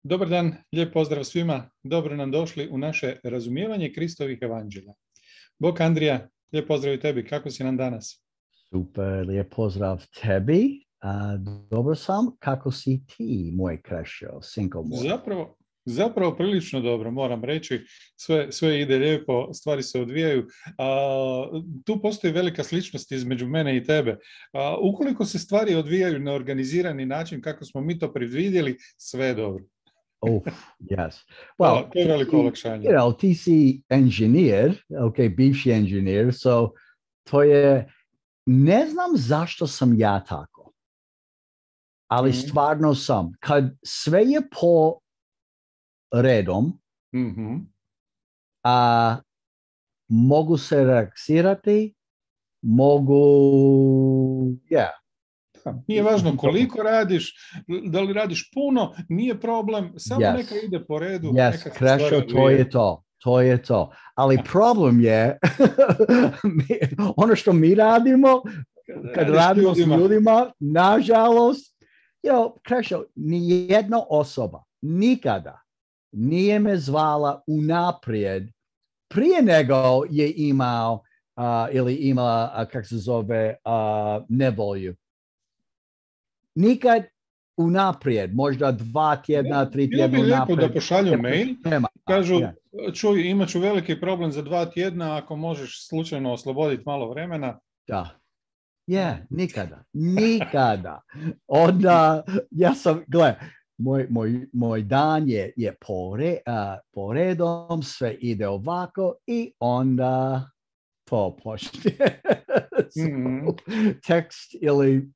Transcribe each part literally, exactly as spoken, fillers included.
Dobar dan, lijep pozdrav svima. Dobro nam došli u naše razumijevanje Kristovih evanđelja. Bog Andrija, lijep pozdrav i tebi. Kako si nam danas? Super, lijep pozdrav tebi. A, dobro sam. Kako si ti, moj Krešo, sinko moj? Zapravo, zapravo prilično dobro, moram reći. Sve, sve ide lijepo, stvari se odvijaju. A, tu postoji velika sličnost između mene i tebe. A, ukoliko se stvari odvijaju na organizirani način, kako smo mi to predvidjeli, sve je dobro. Oh, yes. Well, to je veliko olakšanje. You know, ti si inženjer, okay, bivši inženjer, so to je, ne znam zašto sam ja tako, ali mm-hmm. stvarno sam. Kad sve je po redom, mm-hmm. a mogu se relaksirati, mogu, yeah. Nije važno koliko radiš, da li radiš puno, nije problem, samo yes. neka ide po redu. Yes, neka Krešo, to je to, to je to. Ali problem je, ono što mi radimo, kad radimo s ljudima, ljudima nažalost, you know, Krešo, nijedna osoba nikada nije me zvala unaprijed prije nego je imao uh, ili imala, uh, kako se zove, uh, nevolju. Nikad unaprijed, možda dva tjedna, tri tjedna unaprijed. Bilo bi lijepo unaprijed. da pošalju mail, Tema. kažu, Yeah. čuj, imat ću veliki problem za dva tjedna, ako možeš slučajno osloboditi malo vremena. Da. Je, yeah, nikada, nikada. Onda, ja sam, gle, moj, moj, moj dan je, je pore, uh, poredom, sve ide ovako i onda to počne. So, mm-hmm. Tekst ili,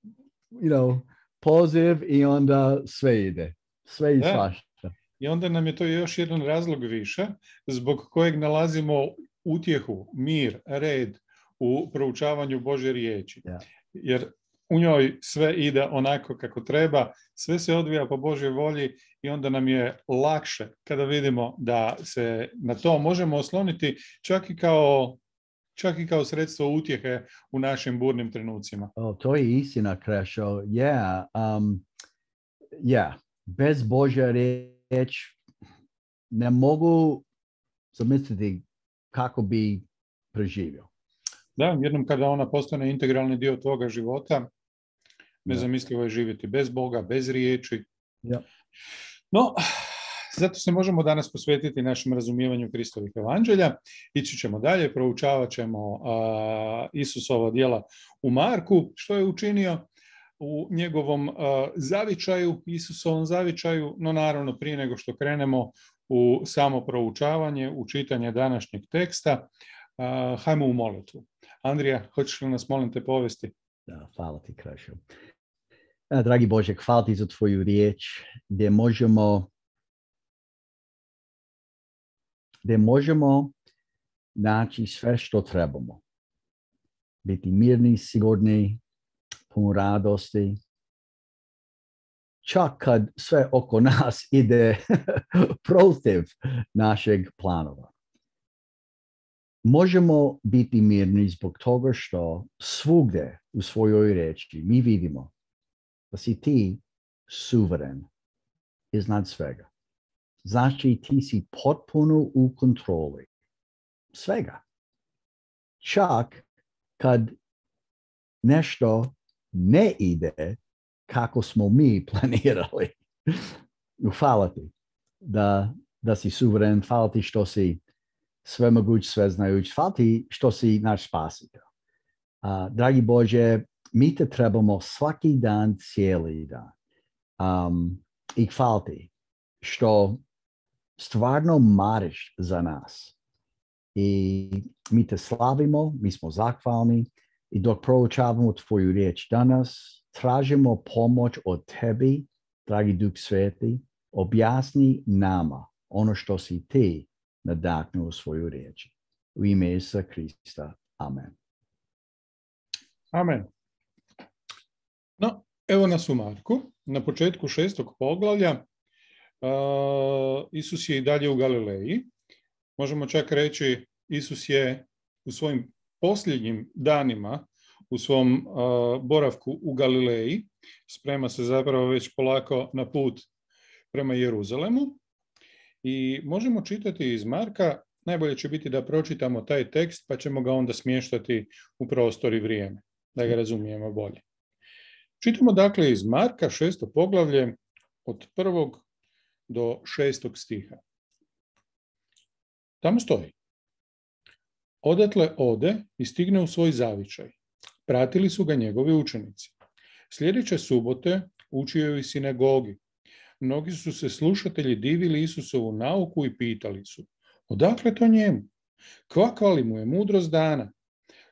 you know, poziv i onda sve ide. Sve i svašta. I onda nam je to još jedan razlog više zbog kojeg nalazimo utjehu, mir, red u proučavanju Božje riječi. Yeah. Jer u njoj sve ide onako kako treba, sve se odvija po Božjoj volji i onda nam je lakše kada vidimo da se na to možemo osloniti čak i kao čak i kao sredstvo utjehe u našim burnim trenucima. Oh, to je istina, Krešo. Yeah. Um, yeah. Bez Božja riječ ne mogu zamisliti kako bi preživio. Da, jednom kada ona postane integralni dio tvoga života, nezamislivo je živjeti bez Boga, bez riječi. Yeah. No, zato se možemo danas posvetiti našem razumijevanju Kristovih evanđelja. Ići ćemo dalje, proučavat ćemo uh, Isusova djela u Marku, što je učinio u njegovom uh, zavičaju, Isusovom zavičaju, no naravno prije nego što krenemo u samo proučavanje, u čitanje današnjeg teksta, uh, hajmo u molitvu. Andrija, hoćeš li nas, molim te, povesti? Da, hvala ti, Krešo. Dragi Bože, hvala ti za tvoju riječ, gdje možemo gdje možemo naći sve što trebamo. Biti mirni, sigurni, pun radosti. Čak kad sve oko nas ide protiv našeg planova. Možemo biti mirni zbog toga što svugdje u svojoj riječi mi vidimo da si ti suveren iznad svega. Znači ti si potpuno u kontroli svega. Čak kad nešto ne ide kako smo mi planirali. Hvala ti da, da si suveren, hvala ti što si svemoguć, sveznajuć, hvala ti što si naš spasitelj. Uh, dragi Bože, mi te trebamo svaki dan, cijeli dan. Um, I hvala ti što stvarno mariš za nas. I mi te slavimo, mi smo zahvalni i dok proučavamo tvoju riječ danas, tražimo pomoć od tebi, dragi Duh Sveti, objasni nama ono što si ti nadahnuo u svoju riječ. U ime Isusa Krista. Amen. Amen. No, evo nas u Marku, na početku šestog poglavlja. Uh, Isus je i dalje u Galileji. Možemo čak reći, Isus je u svojim posljednjim danima, u svom uh, boravku u Galileji, sprema se zapravo već polako na put prema Jeruzalemu i možemo čitati iz Marka. Najbolje će biti da pročitamo taj tekst pa ćemo ga onda smještati u prostor i vrijeme, da ga razumijemo bolje. Čitamo dakle iz Marka šesto poglavlje od prvog do šestog stiha. Tamo stoji: Odatle ode i stigne u svoj zavičaj. Pratili su ga njegovi učenici. Sljedeće subote učio je u sinagogi. Mnogi su se slušatelji divili Isusovu nauku i pitali su: odakle to njemu? Kakva li mu je mudrost dana?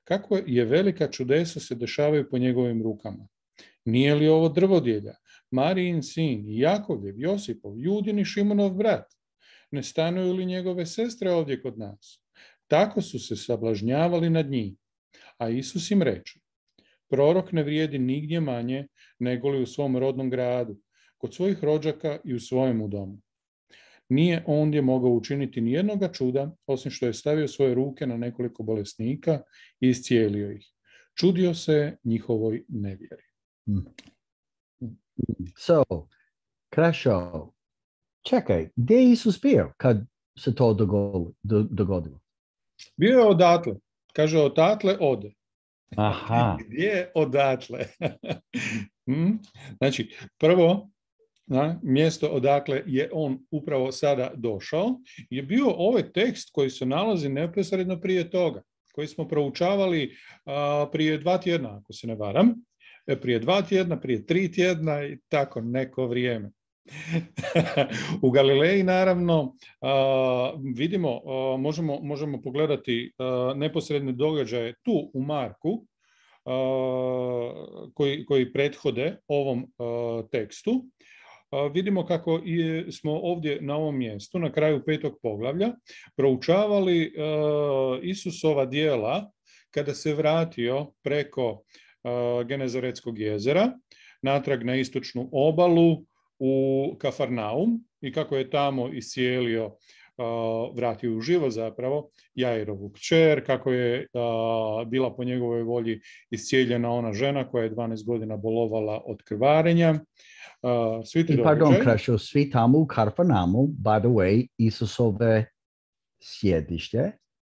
Kako je velika čudesa se dešavaju po njegovim rukama? Nije li ovo drvodjelja, Marijin sin, Jakovljev, Josipov, Judin i Šimonov brat? Ne stanuju li njegove sestre ovdje kod nas? Tako su se sablažnjavali nad njim. A Isus im reče: prorok ne vrijedi nigdje manje nego li u svom rodnom gradu, kod svojih rođaka i u svojemu domu. Nije ondje mogao učiniti nijednoga čuda, osim što je stavio svoje ruke na nekoliko bolesnika i iscijelio ih. Čudio se njihovoj nevjeri. So, Krešo, čekaj, gdje je Isus bio kad se to dogodilo? Bio je odatle. Kaže, odatle ode. Aha. Gdje je odatle? Znači, prvo, na mjesto odakle je on upravo sada došao, je bio ovaj tekst koji se nalazi neposredno prije toga, koji smo proučavali a, prije dva tjedna, ako se ne varam, prije dva tjedna, prije tri tjedna i tako neko vrijeme. U Galileji, naravno, a, vidimo, a, možemo, možemo pogledati a, neposredne događaje tu u Marku, a, koji, koji prethode ovom a, tekstu. A, vidimo kako je, smo ovdje na ovom mjestu, na kraju petog poglavlja, proučavali a, Isusova djela kada se vratio preko a, Genezaretskog jezera, natrag na istočnu obalu, u Kafarnaum, i kako je tamo iscijelio, uh, vratio u život zapravo Jairovu kćer, kako je uh, bila po njegovoj volji iscijeljena ona žena koja je dvanaest godina bolovala od krvarenja. Uh, svi ti I pardon, događaj. Krešo, svi tamo u Kafarnaumu, by the way, Isusove sjedište,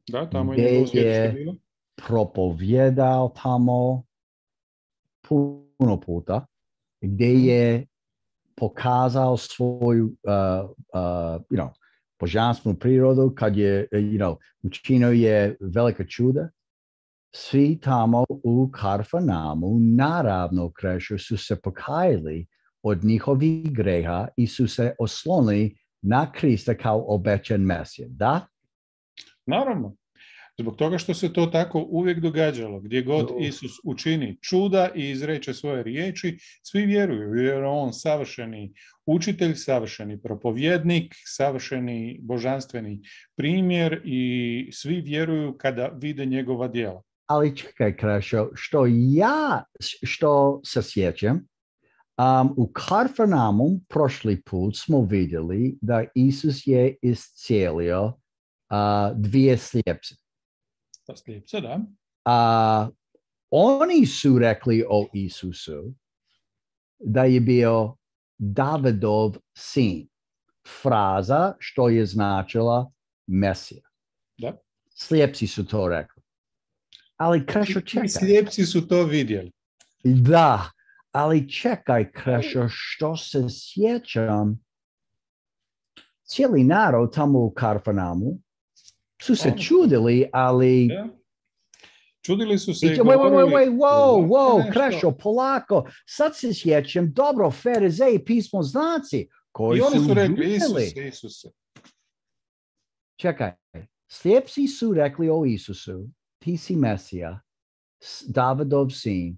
Da, tamo je njegovo sjedište bilo. Propovjedao tamo puno puta, gdje je pokazao svoju uh, uh, you know, božanstvenu prirodu, kad je you know, učinio je velika čuda. Svi tamo u Kafarnaumu naravno, Krešo, su se pokajali od njihovih greha i su se oslonili na Krista kao obećan Mesija. Da? Naravno. Zbog toga što se to tako uvijek događalo, gdje god Isus učini čuda i izreče svoje riječi, svi vjeruju, jer je on savršeni učitelj, savršeni propovjednik, savršeni božanstveni primjer i svi vjeruju kada vide njegova djela. Ali čekaj, Krešo, što ja, što se sjećam, um, u Kafarnaumu prošli put smo vidjeli da Isus je iscijelio uh, dvije slijepce. Slijepce, da. Uh, oni su rekli o Isusu da je bio Davidov sin. Fraza što je značila Mesija. Da. Slijepci su to rekli. Ali Krešo, čekaj. Slijepci su to vidjeli. Da, ali čekaj, Krešo, što se sjećam, cijeli narod tamo u Kafarnaumu su se čudili, ali... Da. Čudili su se i, I govorili... Wait, wait, wait, wow, wow, Krešo, polako, sad se sjećam, dobro, Farizeji i pismoznanci, koji I oni su, su rekli, žudili. Isuse, Isuse. Čekaj, slijepci su rekli o Isusu, ti si Mesija, Davidov sin,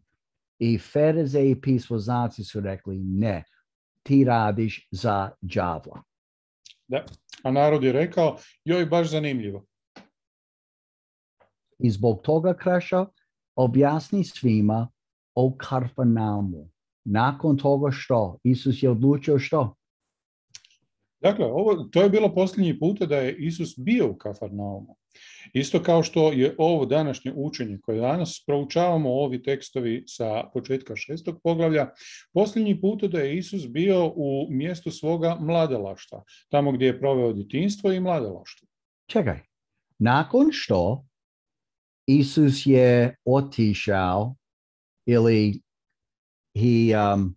i Farizeji i pismoznanci su rekli, ne, ti radiš za đavla. Da, a narod je rekao, joj, baš zanimljivo. I zbog toga, Krešo, objasni svima o Kafarnaumu. Nakon toga što? Isus je odlučio što? Dakle, ovo, to je bilo posljednji puta da je Isus bio u Kafarnaumu. Isto kao što je ovo današnje učenje koje danas proučavamo, ovi tekstovi sa početka šestog poglavlja, posljednji puta da je Isus bio u mjestu svoga mladalaštva, tamo gdje je proveo djetinjstvo i mladalaštvo. Čekaj, nakon što Isus je otišao ili he, um,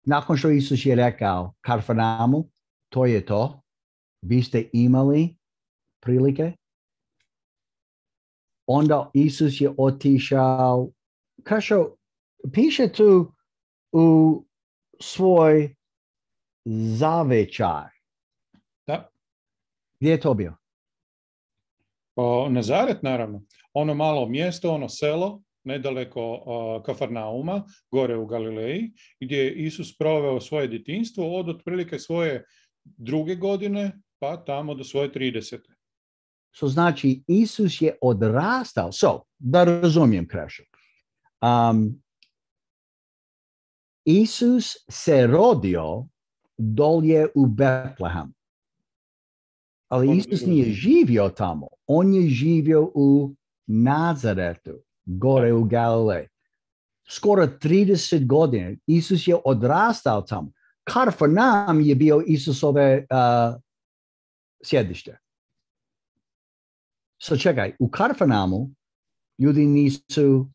nakon što Isus je rekao Kafarnaumu, to je to, vi ste imali prilike, onda Isus je otišao, kažu, piše tu u svoj zavičaj. Da. Gdje je to bio? O, Nazaret, naravno. Ono malo mjesto, ono selo, nedaleko uh, Kafarnauma, gore u Galileji, gdje je Isus proveo svoje djetinjstvo od otprilike svoje druge godine, pa tamo do svoje tridesete. So znači, Isus je odrastao. So, da razumijem Krešo. Um, Isus se rodio dolje u Betlehem. Ali Isus nije živio tamo. On je živio u Nazaretu, gore u Galileji. Skoro trideset godina. Isus je odrastao tamo. Kafarnaum je bio Isusove uh, sjedište. So čekaj, u Kafarnaumu ljudi nisu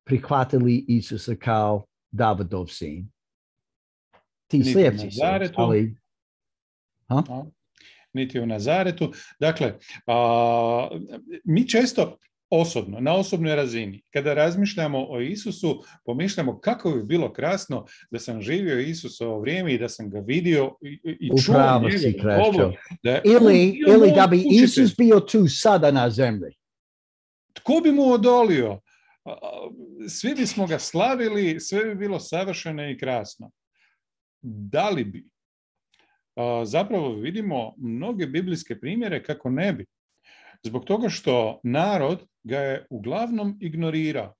prihvatili Isusa kao Davidov sin. Ti slijepci su, ali... Huh? Niti u Nazaretu. Dakle, a, mi često osobno, na osobnoj razini, kada razmišljamo o Isusu, pomišljamo kako bi bilo krasno da sam živio Isusovo vrijeme i da sam ga vidio i, i čuo njegovu da ili, ili da bi učitelj. Isus bio tu sada na zemlji. Tko bi mu odolio? Svi bismo ga slavili, sve bi bilo savršeno i krasno. Da li bi? Zapravo vidimo mnoge biblijske primjere kako ne bi. Zbog toga što narod ga je uglavnom ignorirao.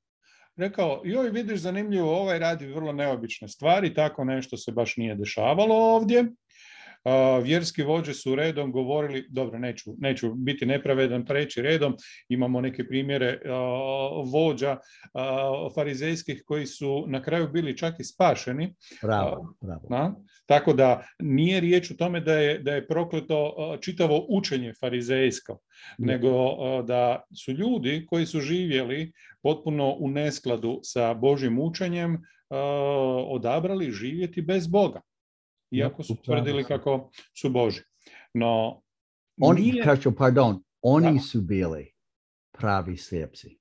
Rekao, joj vidiš zanimljivo, ovaj radi vrlo neobične stvari, tako nešto se baš nije dešavalo ovdje. Uh, vjerski vođe su redom govorili, dobro, neću, neću biti nepravedan, preći redom, imamo neke primjere uh, vođa uh, farizejskih koji su na kraju bili čak i spašeni. Bravo, bravo. Na? Tako da nije riječ o tome da je, da je prokleto uh, čitavo učenje farizejsko, mm. nego uh, da su ljudi koji su živjeli potpuno u neskladu sa Božjim učenjem uh, odabrali živjeti bez Boga. Iako su tvrdili kako su Boži. No, oni, nije... kažu, pardon, oni da. su bili pravi slijepci.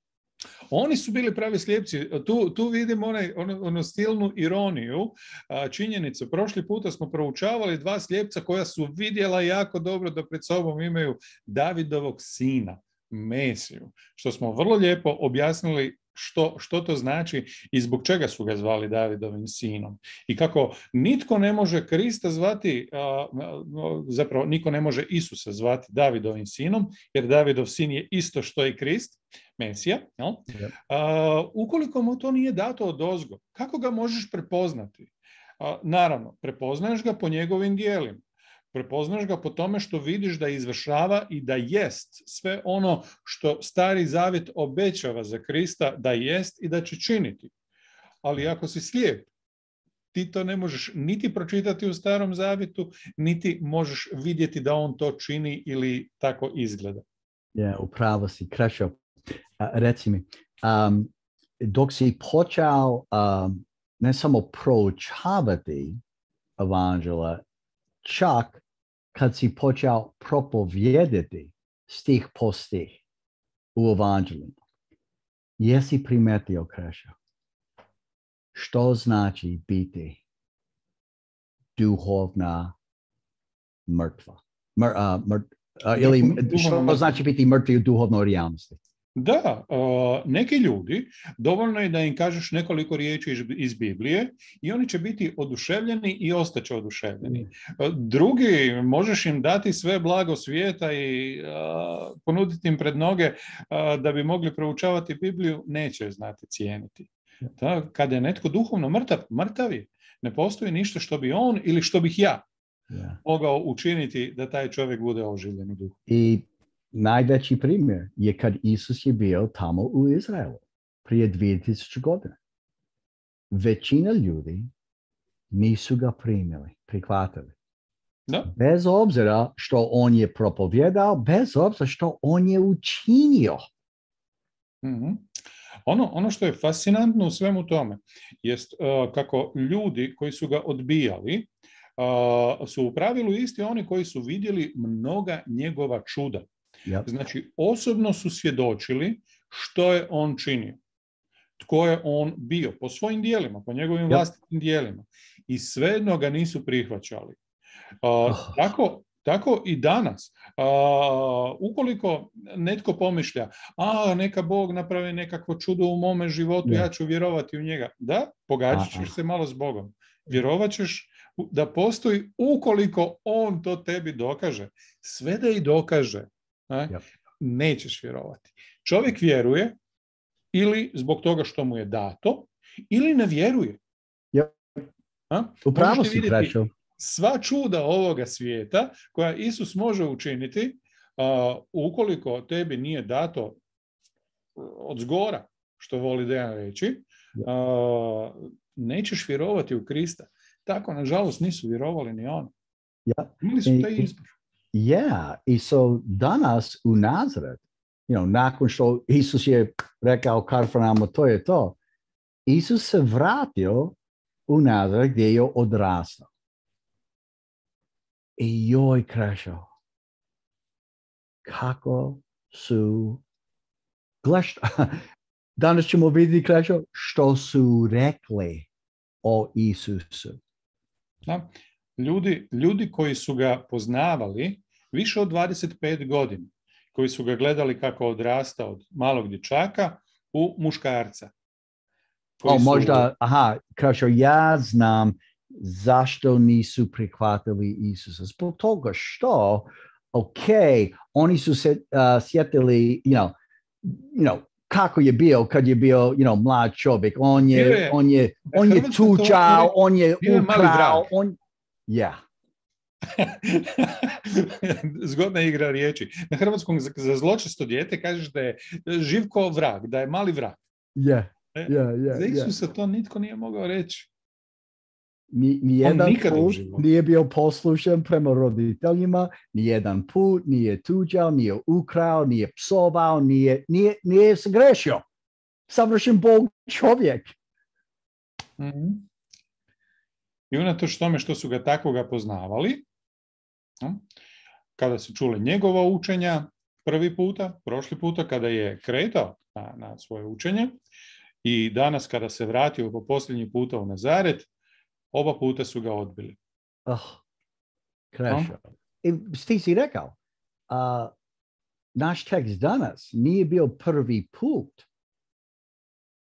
Oni su bili pravi slijepci. Tu, tu vidimo onaj, onu, onu stilnu ironiju. A, činjenicu, prošli puta smo proučavali dva slijepca koja su vidjela jako dobro da pred sobom imaju Davidovog sina, Mesiju, što smo vrlo lijepo objasnili Što, što to znači i zbog čega su ga zvali Davidovim sinom. I kako nitko ne može Krista zvati, a, zapravo niko ne može Isusa zvati Davidovim sinom, jer Davidov sin je isto što i Krist, Mesija. Jel? A, ukoliko mu to nije dato odozgo, kako ga možeš prepoznati? A, naravno, prepoznaješ ga po njegovim dijelima. Prepoznaš ga po tome što vidiš da izvršava i da jest sve ono što Stari Zavjet obećava za Krista da jest i da će činiti. Ali ako si slijep, ti to ne možeš niti pročitati u Starom Zavjetu, niti možeš vidjeti da on to čini ili tako izgleda. Ja, upravo si, Krešo. Uh, reci mi, um, dok si počeo um, ne samo proučavati evanđela, čak kad si počeo propovijedati stih po stih u evanđelima, jesi primetio, Krešo, što znači biti duhovna mrtva? Mr, uh, mrt, uh, ili što znači biti mrtvi u duhovnoj realnosti? Da, uh, neki ljudi, dovoljno je da im kažeš nekoliko riječi iz, iz Biblije i oni će biti oduševljeni i ostaće oduševljeni. Uh, drugi, možeš im dati sve blago svijeta i uh, ponuditi im pred noge uh, da bi mogli proučavati Bibliju, neće znati cijeniti. Da, kada je netko duhovno mrtav, mrtav je. Ne postoji ništa što bi on ili što bih ja Yeah. mogao učiniti da taj čovjek bude oživljen u duhu. I najveći primjer je kad Isus je bio tamo u Izraelu prije dvije tisuće godina. Većina ljudi nisu ga primili, prihvatili. Da. Bez obzira što on je propovjedao, bez obzira što on je učinio. Mm-hmm. Ono, ono što je fascinantno u svemu tome jest uh, kako ljudi koji su ga odbijali uh, su u pravilu isti oni koji su vidjeli mnoga njegova čuda. Yep. Znači, osobno su svjedočili što je on činio. Tko je on bio po svojim dijelima, po njegovim yep. vlastitim dijelima. I svejedno ga nisu prihvaćali. Uh, oh. tako, tako i danas. Uh, ukoliko netko pomišlja, a neka Bog napravi nekakvo čudo u mome životu, yeah. ja ću vjerovati u njega. Da, pogađat ćeš se malo s Bogom. Vjerovat ćeš da postoji ukoliko on to tebi dokaže. Sve da i dokaže. Ne? Yep. Nećeš vjerovati. Čovjek vjeruje ili zbog toga što mu je dato, ili ne vjeruje. Yep. Upravo si prešao. Sva čuda ovoga svijeta koja Isus može učiniti, uh, ukoliko tebi nije dato od zgora, što voli Dejan reći, uh, nećeš vjerovati u Krista. Tako, nažalost, nisu vjerovali ni oni. Yeah. Imali su taj izbor. Yeah, i so danas u Nazaret, you know, nakon što Isus je rekao Kafarnaum, to je to, Isus se vratio u Nazaret gdje je odrastao. I joj, Krešo, kako su, gleš, danas ćemo vidjeti, Krešo, što su rekli o Isusu. Da. Ljudi, ljudi koji su ga poznavali više od dvadeset pet godina, koji su ga gledali kako odrasta od malog dječaka u muškarca. O, su... možda, aha, Krešo, ja znam zašto nisu prihvatili Isusa. Zbog toga što, ok, oni su se uh, sjetili, you know, you know, kako je bio kad je bio, you know, mlad čovjek. On je, je on je, on je tučao, to, on je ukrao, on... Ja. Zgodna igra riječi. Na hrvatskom za, za zločesto dijete kažeš da je Živko vrag, da je mali vrag. Ja, ja, ja. Za Isusa to nitko nije mogao reći. Ni, nijedan put nije bio poslušan prema roditeljima, nijedan put nije tuđao, nije ukrao, nije psovao, nije, nije, nije se grešio. Savršen Bog čovjek. Mm-hmm. I unatoč tome što su ga takvoga poznavali, kada su čuli njegova učenja prvi puta, prošli puta kada je kretao na, na svoje učenje i danas kada se vratio po posljednji puta u Nazaret, oba puta su ga odbili. Oh, Krešo. I ti si rekao, uh, naš tekst danas nije bio prvi put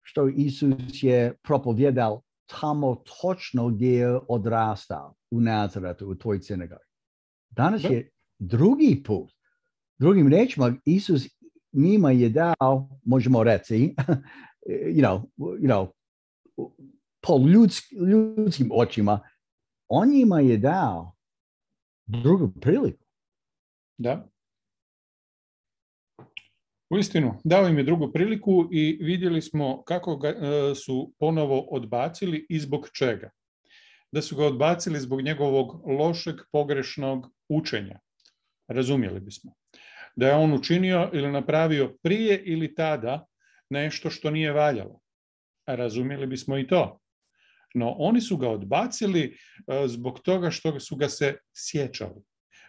što Isus je propovjedao tamo točno gdje je odrastao, u Nazaretu, u tvoj sinagogi. Danas da. je drugi put. Drugim rečima, Isus njima je dao, možemo reći, you know, you know, po ljudski, ljudskim očima, on njima je dao drugu priliku. Da. Uistinu, dao im je drugu priliku i vidjeli smo kako ga e, su ponovo odbacili i zbog čega. Da su ga odbacili zbog njegovog lošeg, pogrešnog učenja. Razumjeli bismo. Da je on učinio ili napravio prije ili tada nešto što nije valjalo. Razumjeli bismo i to. No oni su ga odbacili e, zbog toga što su ga se sjećali.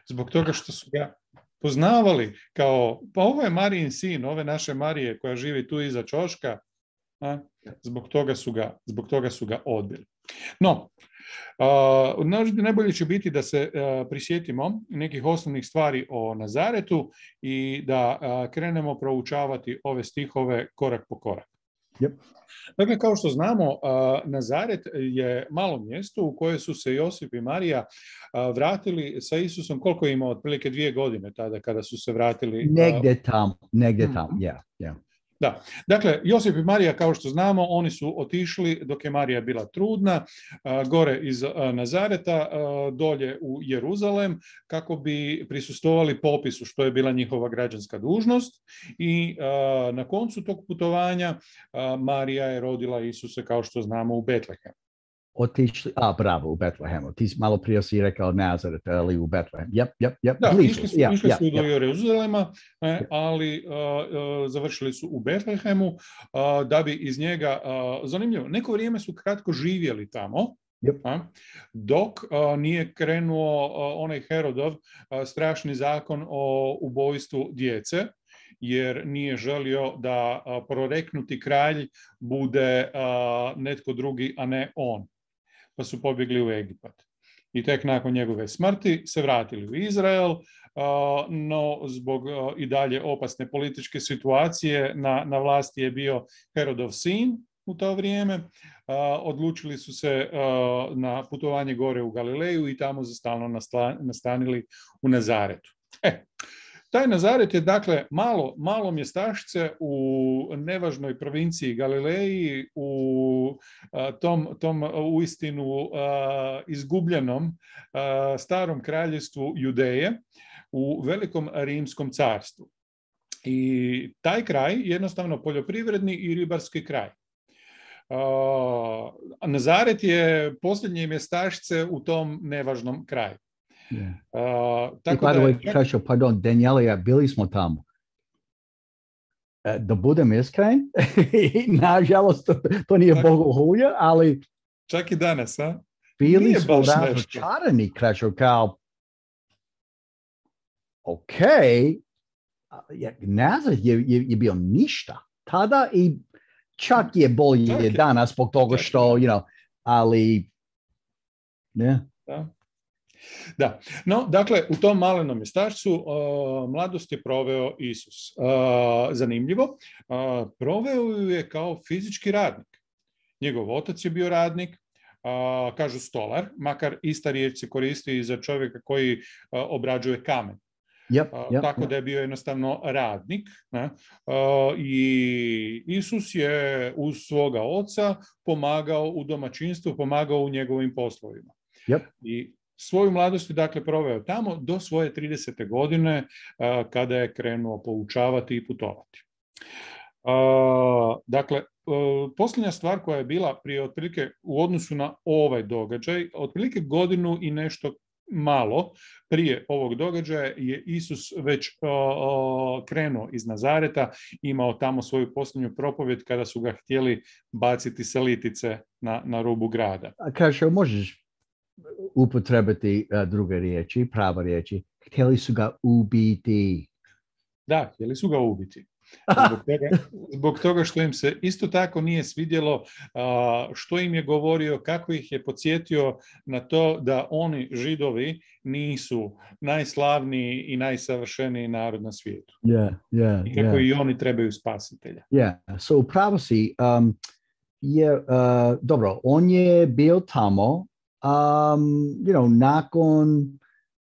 Zbog toga što su ga poznavali kao, pa ovo je Marijin sin, ove naše Marije koja živi tu iza ćoška, a, zbog toga su ga, zbog toga su ga odbili. No, a, najbolje će biti da se a, prisjetimo nekih osnovnih stvari o Nazaretu i da a, krenemo proučavati ove stihove korak po korak. Yep. Dakle, kao što znamo, Nazaret je malo mjesto u koje su se Josip i Marija vratili sa Isusom. Koliko je imao? Otprilike dvije godine tada kada su se vratili. Negdje tamo, negdje tamo, yeah, yeah. Da, dakle, Josip i Marija, kao što znamo, oni su otišli dok je Marija bila trudna, gore iz Nazareta, dolje u Jeruzalem, kako bi prisustvovali popisu, što je bila njihova građanska dužnost. I na koncu tog putovanja Marija je rodila Isuse, kao što znamo, u Betlehemu. Otišli, a bravo, u Betlehemu. Ti malo prije si rekao Nazaret, ali u Betlehem. Yep, yep, yep. Da, Blizu. išli su, yeah, išli yeah, su do yeah. Jeruzalema, ali uh, uh, završili su u Betlehemu, uh, da bi iz njega, uh, zanimljivo, neko vrijeme su kratko živjeli tamo, Yep. uh, dok uh, nije krenuo uh, onaj Herodov uh, strašni zakon o ubojstvu djece, jer nije želio da uh, proreknuti kralj bude uh, netko drugi, a ne on. Pa su pobjegli u Egipat. I tek nakon njegove smrti se vratili u Izrael, no zbog i dalje opasne političke situacije na, na vlasti je bio Herodov sin u to vrijeme. Odlučili su se na putovanje gore u Galileju i tamo za stalno nastanili u Nazaretu. E, taj Nazaret je dakle malo, malo mjestašce u nevažnoj provinciji Galileji, u tom, tom uistinu izgubljenom starom kraljevstvu Judeje, u velikom rimskom carstvu. I taj kraj jednostavno poljoprivredni i ribarski kraj. Nazaret je posljednje mjestašce u tom nevažnom kraju. Yeah. Uh, tako I by the da, way, Krešo, pardon, Daniela, bili smo tamo. Da budem iskren, nažalost, to, to nije bogohulje, ali čak i danas, a? Bili nije smo razočarani, Krešo, kao ok, Nazaret je, je, je bio ništa tada i čak je bolje čak je, danas zbog toga što, you know, ali ne. Da. Da, no, dakle, u tom malenom mjestašcu uh, mladost je proveo Isus. Uh, zanimljivo, uh, proveo ju je kao fizički radnik. Njegov otac je bio radnik, uh, kažu stolar, makar ista riječ se koristi i za čovjeka koji uh, obrađuje kamen. Yep, yep, tako yep. da je bio jednostavno radnik, ne? Uh, i Isus je uz svoga oca pomagao u domaćinstvu, pomagao u njegovim poslovima. Yep. I svoju mladost je dakle proveo tamo do svoje tridesete godine uh, kada je krenuo poučavati i putovati. Uh, dakle, uh, posljednja stvar koja je bila prije otprilike u odnosu na ovaj događaj, otprilike godinu i nešto malo prije ovog događaja je Isus već uh, uh, krenuo iz Nazareta, imao tamo svoju posljednju propovjed kada su ga htjeli baciti sa litice na, na rubu grada. Kaže, možeš upotrebiti uh, druge riječi, prava riječi. Htjeli su ga ubiti. Da, htjeli su ga ubiti. Zbog toga, zbog toga što im se isto tako nije svidjelo uh, što im je govorio, kako ih je podsjetio na to da oni, Židovi, nisu najslavniji i najsavršeniji narod na svijetu. Yeah, yeah, I kako yeah. i oni trebaju spasitelja. Yeah, so upravo si, um, je, uh, dobro, on je bio tamo, um, you know, nakon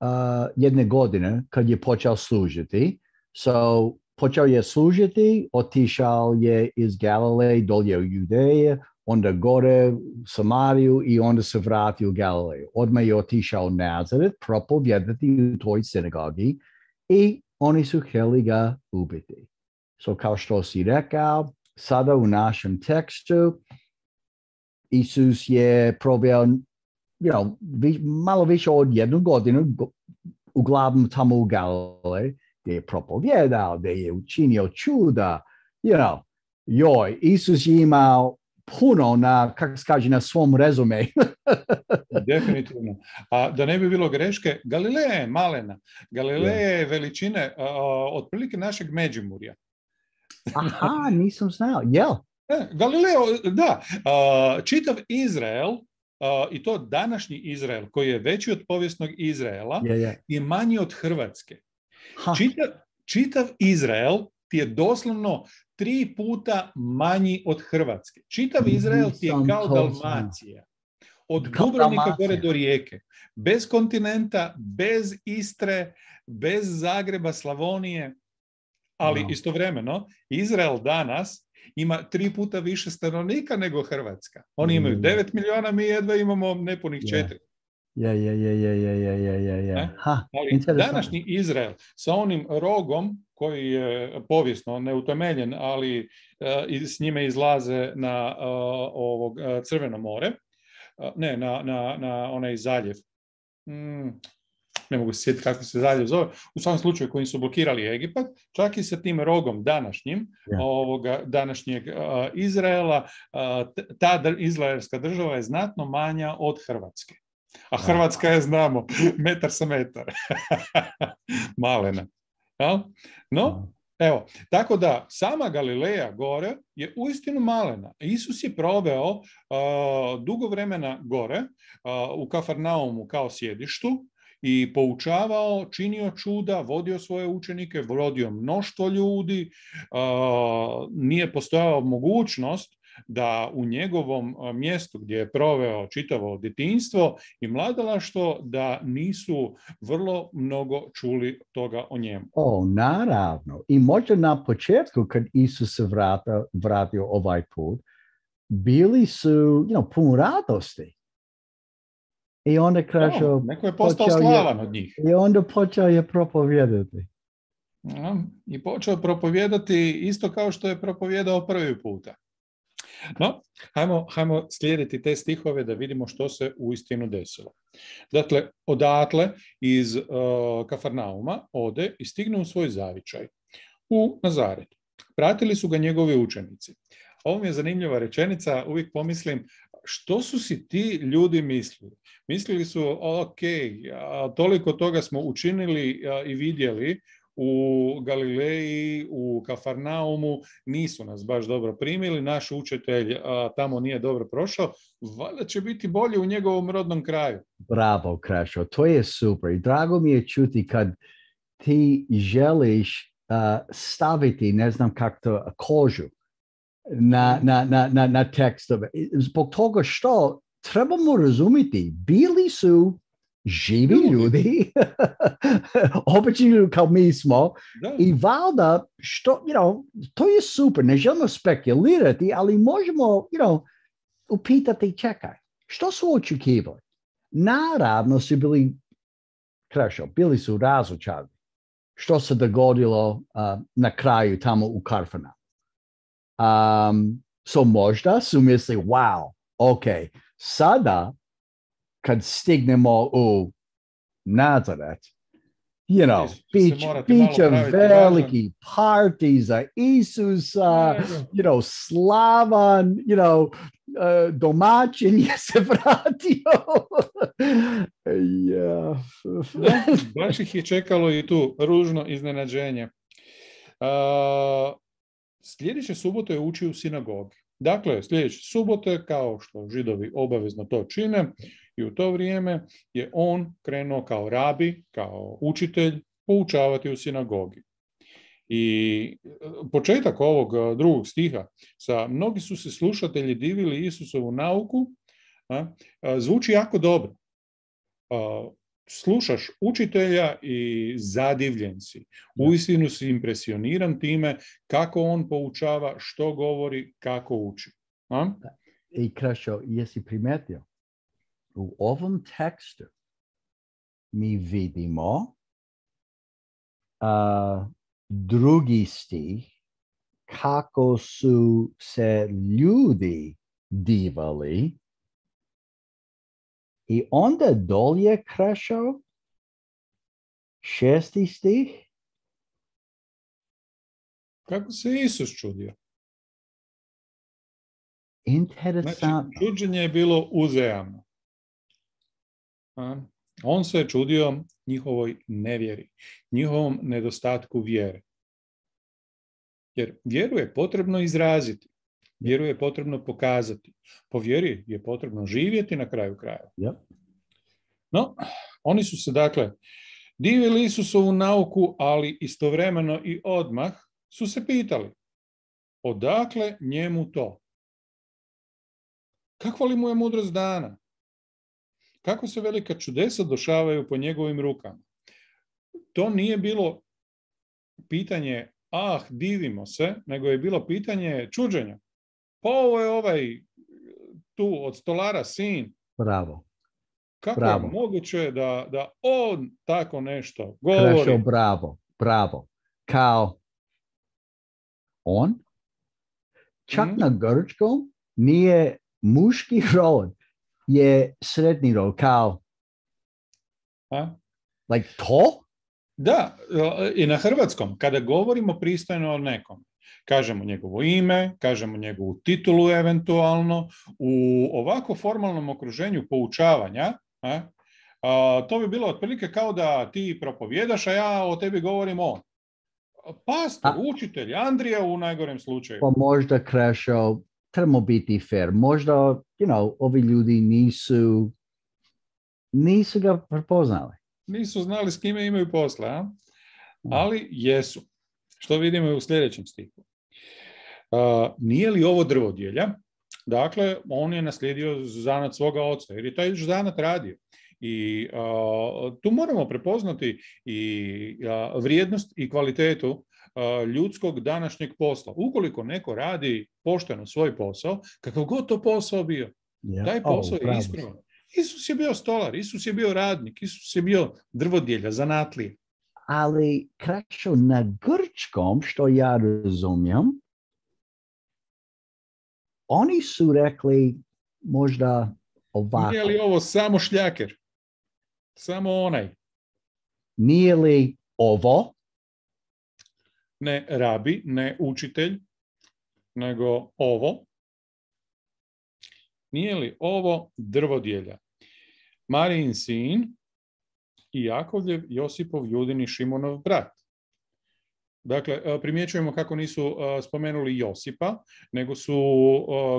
uh, jedne godine kad je počeo služiti, so počeo je služiti, otišao je iz Galileje dolje u Judeje, onda gore u Samariju i onda se vratio u Galileju. Odmah je otišao u Nazaret, propovjedati u toj sinagogi i oni su htjeli ga ubiti. So kao što si rekao, sada u našem tekstu Isus je proveo, you know, vi, malo više od jednu godinu, uglavnom tamo u Galileji, gdje je propovjedao, gdje je učinio čuda, you know, joj, Isus je imao puno na, kako se kaže, na svom rezume. Definitivno. A da ne bi bilo greške, Galileja je malena. Galileja je veličine uh, otprilike našeg Međimurja. Aha, nisam znao, jel? Galileo, da. Uh, čitav Izrael, uh, i to današnji Izrael, koji je veći od povijesnog Izraela, yeah, yeah. je manji od Hrvatske. Čitav, čitav Izrael ti je doslovno tri puta manji od Hrvatske. Čitav Izrael ti je kao Dalmacija. Od Dubrovnika gore do Rijeke. Bez kontinenta, bez Istre, bez Zagreba, Slavonije. Ali Wow. istovremeno, Izrael danas ima tri puta više stanovnika nego Hrvatska. Oni imaju Mm. devet milijuna, mi jedva imamo nepunih Yeah. četiri. Ja, ja, ja, ja, ja, ja, ja, ja, ja. Ne? Ha, Ali interesantno. današnji Izrael sa onim rogom koji je povijesno neutemeljen, ali uh, s njime izlaze na uh, ovog uh, Crveno more, uh, ne, na, na, na onaj zaljev. Mm, ne mogu se sjetiti kako se zaljev zove, u svakom slučaju kojim su blokirali Egipat, čak i sa tim rogom današnjim, Yeah. ovoga današnjeg uh, Izraela, uh, ta dr- izraelska država je znatno manja od Hrvatske. A Hrvatska je, znamo, metar sa metar. Malena. Ja? No, evo, tako da sama Galileja gore je uistinu malena. Isus je proveo uh, dugo vremena gore uh, u Kafarnaumu kao sjedištu i poučavao, činio čuda, vodio svoje učenike, vodio mnoštvo ljudi, uh, nije postojala mogućnost da u njegovom mjestu gdje je proveo čitavo djetinjstvo i mladalaštvo da nisu vrlo mnogo čuli toga o njemu. O, naravno. I možda na početku kad Isus se vrata, vratio ovaj put, bili su, you know, pun radosti. I onda kaže, No, neko je postao slavan je, od njih. I onda počeo je propovijedati. Ja, I počeo propovijedati isto kao što je propovijedao prvi puta. No, hajmo, hajmo slijediti te stihove da vidimo što se uistinu desilo. Dakle, odatle iz uh, Kafarnauma ode i stigne u svoj zavičaj u Nazaret. Pratili su ga njegovi učenici. Ovo mi je zanimljiva rečenica, uvijek pomislim što su si ti ljudi mislili. Mislili su, ok, toliko toga smo učinili i vidjeli u Galileji, u Kafarnaumu, nisu nas baš dobro primili, naš učitelj a, tamo nije dobro prošao, valjda će biti bolje u njegovom rodnom kraju. Bravo, Krešo, to je super. I drago mi je čuti kad ti želiš uh, staviti, ne znam kako to, kožu na, na, na, na, na tekstove. Zbog toga što trebamo razumjeti, bili su živi ljudi, ljudi. Obični ljudi kao mi smo, da. I valjda, što, you know, to je super, ne želimo spekulirati, ali možemo, you know, upitati, čekaj, što su očekivali? Naravno su bili, Krešo, bili su razočarani. Što se dogodilo uh, na kraju tamo u Kafarnaumu. Um, so možda su misli, wow, ok, sada kad stignemo u Nazaret, you know, bit će veliki party za Isusa, you know, slavan, you know, uh, domaćin je se vratio. yeah. Da, baš ih je čekalo i tu ružno iznenađenje. Uh, sljedeće subote je učio u sinagogi. Dakle, sljedeće subote, kao što Židovi obavezno to čine, i u to vrijeme je on krenuo kao rabi, kao učitelj, poučavati u sinagogi. I početak ovog drugog stiha, sa mnogi su se slušatelji divili Isusovu nauku, a, a, zvuči jako dobro. A, slušaš učitelja i zadivljen si. Uistinu si impresioniran time kako on poučava, što govori, kako uči. A? I Krešo, jesi primetio? U ovom tekstu mi vidimo uh, drugi stih kako su se ljudi divali i onda dolje, Krešo, šesti stih. Kako se Isus čudio? Interesantno. Znači, čuđenje je bilo uzajamno. On se je čudio njihovoj nevjeri, njihovom nedostatku vjere. Jer vjeru je potrebno izraziti, vjeru je potrebno pokazati, po vjeri je potrebno živjeti na kraju krajeva. Yep. No, oni su se dakle divili Isusovu nauku, ali istovremeno i odmah su se pitali, odakle njemu to? Kakva li mu je mudrost dana? Kako se velika čudesa dešavaju po njegovim rukama? To nije bilo pitanje ah, divimo se, nego je bilo pitanje čuđenja. Pa ovo je ovaj tu od stolara sin. Bravo. Kako Bravo. je moguće da, da on tako nešto govori? Krešo, bravo, bravo. Kao on, čak mm. na grčkom nije muški rod, je srednji rod, kao A? like to? Da, i na hrvatskom, kada govorimo pristojno o nekom, kažemo njegovo ime, kažemo njegovu titulu eventualno, u ovako formalnom okruženju poučavanja, a, a, to bi bilo otprilike kao da ti propovjedaš, a ja o tebi govorim on. Pastor, a, učitelj, Andrija u najgorem slučaju. Pa možda, Krešo, trebamo biti fair. Možda, you know, ovi ljudi nisu, nisu ga prepoznali. Nisu znali s kime imaju posla, a? Ali jesu. Što vidimo u sljedećem stihu. Uh, nije li ovo drvodjelja? Dakle, on je naslijedio zanat svoga oca, jer je taj zanat radio. I uh, tu moramo prepoznati i uh, vrijednost i kvalitetu uh, ljudskog današnjeg posla. Ukoliko neko radi pošteno svoj posao, kakav god to posao bio, yeah. taj posao oh, je ispravan. Isus je bio stolar, Isus je bio radnik, Isus je bio drvodjelja, zanatlija. Ali Krešo, na grčkom, što ja razumijem, oni su rekli možda ovako. Nije li ovo samo šljaker? Samo onaj? Nije li ovo? Ne rabi, ne učitelj, nego ovo. Nije li ovo drvodjelja? Marijin sin i Jakovljev, Josipov, Judin i Šimonov brat. Dakle, primjećujemo kako nisu spomenuli Josipa, nego su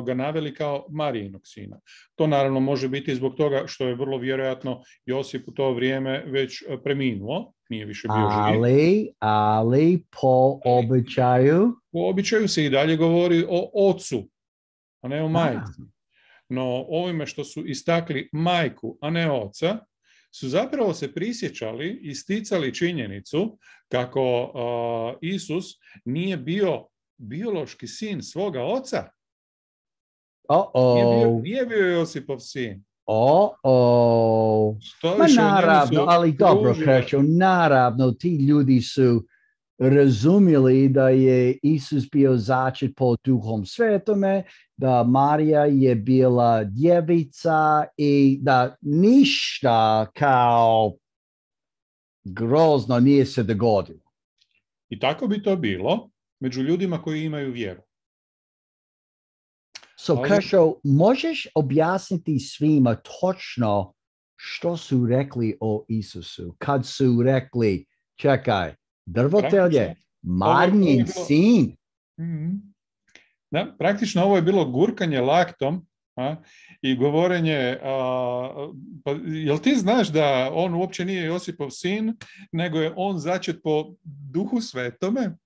ga naveli kao Marijinog sina. To naravno može biti zbog toga što je vrlo vjerojatno Josip u to vrijeme već preminuo, nije više bio živ. Ali, ali po običaju? Po običaju se i dalje govori o ocu, a ne o majci. No ovime što su istakli majku, a ne oca, su zapravo se prisjećali i sticali činjenicu kako uh, Isus nije bio biološki sin svoga oca. Uh-oh. Nije bio, nije bio Josipov sin. Oh, Ma naravno, ali dobro, Krešo, naravno, ti ljudi su razumjeli da je Isus bio začet po Duhom Svetome, da Marija je bila djevica i da ništa kao grozno nije se dogodilo. I tako bi to bilo među ljudima koji imaju vjeru. So, Ali... Krešo, možeš objasniti svima točno što su rekli o Isusu? Kad su rekli, čekaj, drvotelje, Marijin sin. Mm-hmm. Da, praktično ovo je bilo gurkanje laktom a, i govorenje, a, pa, jel ti znaš da on uopće nije Josipov sin, nego je on začet po Duhu Svetome,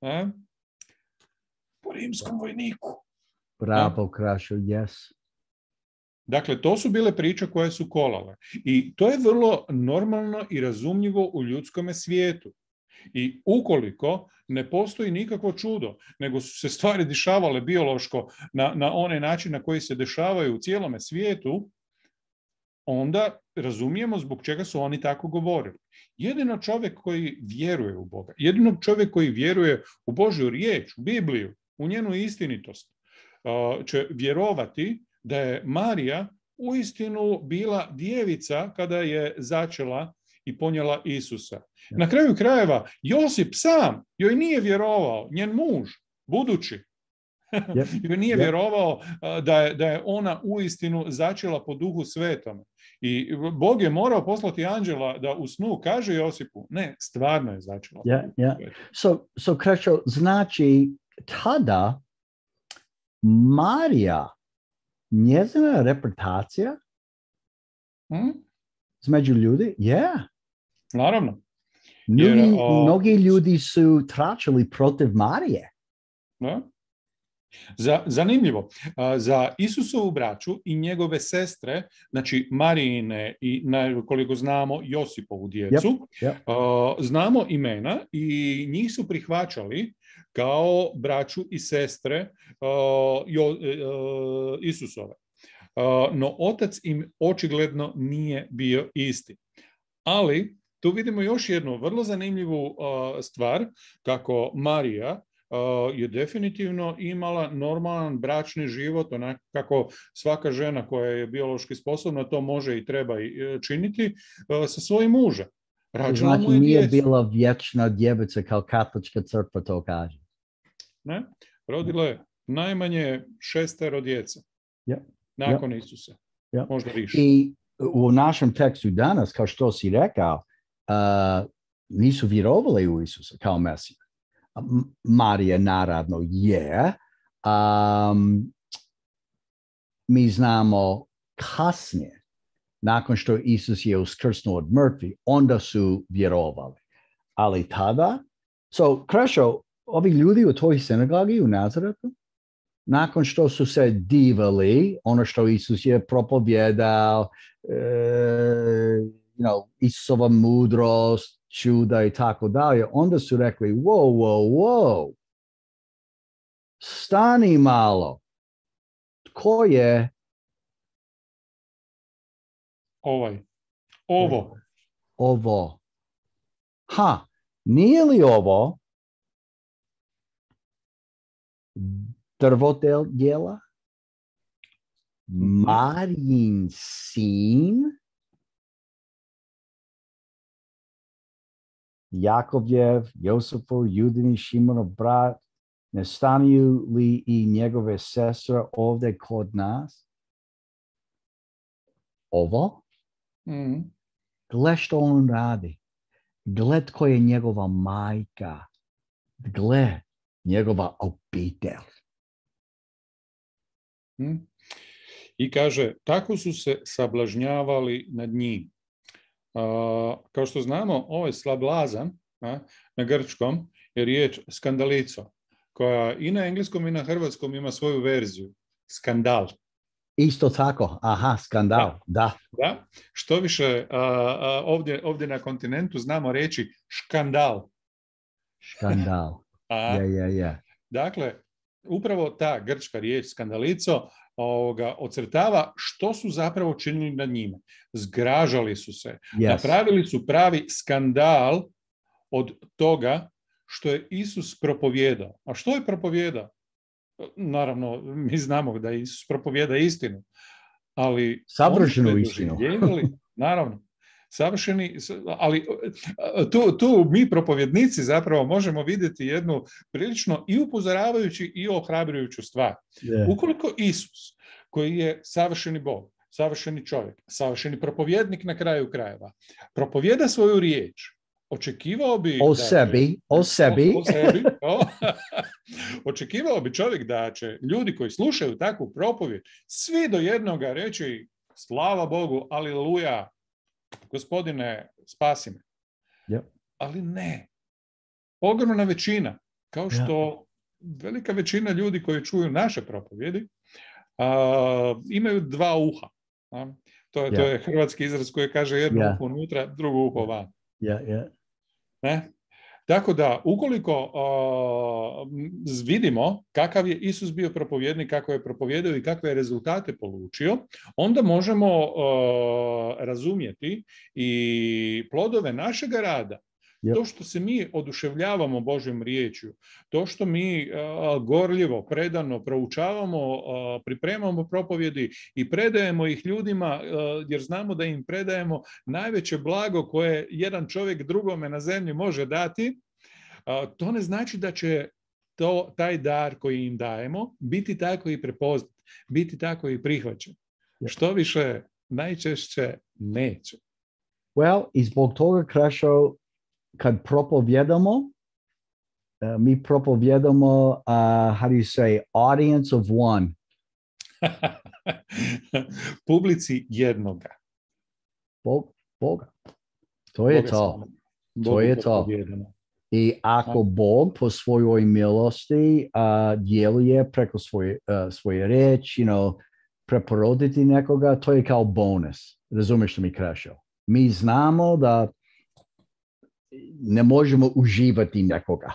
a, po rimskom vojniku. Bravo, Krešo, yes. Dakle, to su bile priče koje su kolale. I to je vrlo normalno i razumljivo u ljudskome svijetu. I ukoliko ne postoji nikakvo čudo, nego su se stvari dešavale biološko na, na onaj način na koji se dešavaju u cijelome svijetu, onda razumijemo zbog čega su oni tako govorili. Jedino čovjek koji vjeruje u Boga, jedino čovjek koji vjeruje u Božju riječ, u Bibliju, u njenu istinitost, će vjerovati da je Marija uistinu bila djevica kada je začela i ponijela Isusa. Na kraju krajeva, Josip sam joj nije vjerovao, njen muž, budući, yep. joj nije yep. vjerovao da je, da je ona uistinu začela po Duhu Svetom. I Bog je morao poslati anđela da u snu kaže Josipu, ne, stvarno je začela. Yeah, yeah. So, so Krešo, znači tada Marija, njezina reputacija hmm? između ljudi, yeah. Naravno. Mnogi, Jer, o... mnogi ljudi su tračali protiv Marije. Da? Za, zanimljivo, za Isusovu braću i njegove sestre, znači Marijine i, koliko znamo, Josipovu djecu, yep, yep. znamo imena i njih su prihvaćali kao braću i sestre Isusove. No otac im očigledno nije bio isti. Ali tu vidimo još jednu vrlo zanimljivu stvar, kako Marija je definitivno imala normalan bračni život, onako kako svaka žena koja je biološki sposobna to može i treba činiti sa svojim mužem. Rađala znači mu je nije djecu. bila vječna djevica kao katolička crkva to kaže. Ne? Rodila je najmanje šestero djece. Yep. Nakon yep. Isusa. Yep. Možda više. I u našem tekstu danas, kao što si rekao, uh, nisu vjerovali u Isusa kao Mesija. Marija naravno je. Um, mi znamo kasnije, nakon što Isus je uskrsnuo od mrtvih, onda su vjerovali. Ali tada, so, Krešo, ovi ljudi u toj sinagogi u Nazaretu, nakon što su se divali, ono što Isus je propovjedao, uh, you know, Isusova mudrost, čuda i tako dalje, onda su rekli, wow, wow, wow, stani malo, tko je ovaj, ovo, ovo, ha, nije li ovo drvodel djela, Marijin sin, Jakovljev, Josipov, Judini, Šimonov brat, ne stanuju li i njegove sestre ovdje kod nas? Ovo? mm. Gle što on radi. Gle tko je njegova majka. Gle njegova obitelj. Mm. I kaže, tako su se sablažnjavali nad njim. Uh, kao što znamo, ovaj slablazan a, na grčkom je riječ skandalico, koja i na engleskom i na hrvatskom ima svoju verziju. Skandal. Isto tako, aha, skandal, da. Da. da. Što više, a, a, ovdje, ovdje na kontinentu znamo reći škandal. Škandal, je, je, je. Dakle, upravo ta grčka riječ skandalico ovoga, ocrtava što su zapravo činili nad njima. Zgražali su se. Yes. Napravili su pravi skandal od toga što je Isus propovjedao. A što je propovjedao? Naravno, mi znamo da Isus propovjeda istinu, ali savršenu istinu. Naravno, savršeni, ali tu, tu mi propovjednici zapravo možemo vidjeti jednu prilično i upozoravajući i ohrabrujuću stvar. Yeah. Ukoliko Isus, koji je savršeni Bog, savršeni čovjek, savršeni propovjednik na kraju krajeva, propovjeda svoju riječ, očekivao bi... O da sebi, će, o sebi. O, o sebi o, očekivao bi čovjek da će ljudi koji slušaju takvu propovjed svi do jednoga reći slava Bogu, aleluja, Gospodine, spasi me. Yep. Ali ne. Ogromna većina, kao što yeah. velika većina ljudi koji čuju naše propovjedi, a, imaju dva uha. A? To, je, yeah. to je hrvatski izraz koji kaže jedno yeah. uho unutra, drugo uho van. Yeah, yeah. Ne? Tako da, ukoliko uh, vidimo kakav je Isus bio propovjednik, kako je propovjedao i kakve je rezultate polučio, onda možemo uh, razumjeti i plodove našega rada. Yep. To što se mi oduševljavamo Božjom riječju, to što mi uh, gorljivo, predano proučavamo, uh, pripremamo propovjedi i predajemo ih ljudima, uh, jer znamo da im predajemo najveće blago koje jedan čovjek drugome na zemlji može dati, uh, to ne znači da će to, taj dar koji im dajemo biti tako i prepoznat, biti tako i prihvaćen. Yep. Što više, najčešće neće. Well, i zbog toga, Krešo, kad propovjedamo, uh, mi propovjedamo, uh, how do you say, audience of one. Publici jednoga. Bog, Boga. To je Boga to. To je to. I ako Bog po svojoj milosti uh, djeluje preko svoje, uh, svoje riječi, you know, preporoditi nekoga, to je kao bonus. Razumiješ što mi Krešo? Mi znamo da ne možemo uživati nekoga.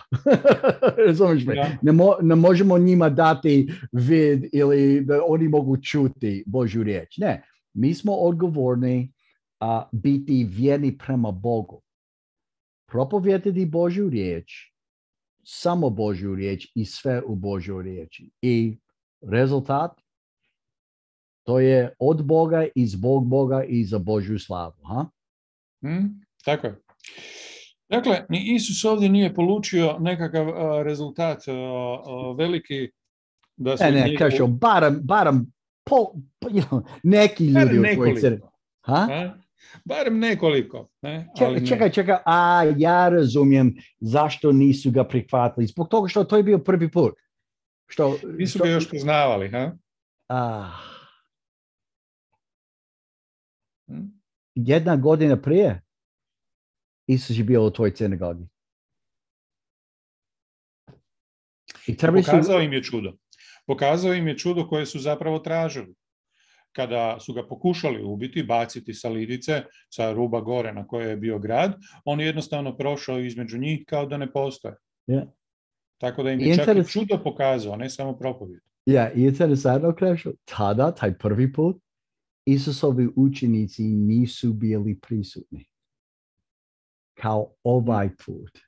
Razumiješ me? Ja. Ne, mo, ne možemo njima dati vid ili da oni mogu čuti Božju riječ. Ne, mi smo odgovorni uh, biti vjerni prema Bogu. Propovijedati Božju riječ, samo Božju riječ i sve u Božjoj riječi. I rezultat, to je od Boga i zbog Boga i za Božju slavu. Ha? Mm, tako je. Dakle, ni Isus ovdje nije polučio nekakav uh, rezultat uh, uh, veliki da su ne, ne, njegov... kažu, barem, barem po, po, you know, neki ljudi u tvojoj crkvi. Ha? Ha? Barem nekoliko. Ne? Čekaj, Ali ne. čekaj, čekaj, a ja razumijem zašto nisu ga prihvatili. Zbog toga što to je bio prvi put. Što, nisu što... ga još poznavali, ha? Ah. Hmm? Jedna godina prije Isus je bio u tvojoj sinagogi. I pokazao su... im je čudo. Pokazao im je čudo koje su zapravo tražili. Kada su ga pokušali ubiti, baciti sa lidice, sa ruba gore na kojoj je bio grad, on je jednostavno prošao između njih kao da ne postoje. Yeah. Tako da im je čak i čudo pokazao, ne samo propovijed. Ja, i interesantno, Krešo, tada, taj prvi put, Isusovi učenici nisu bili prisutni. Kao ovaj put.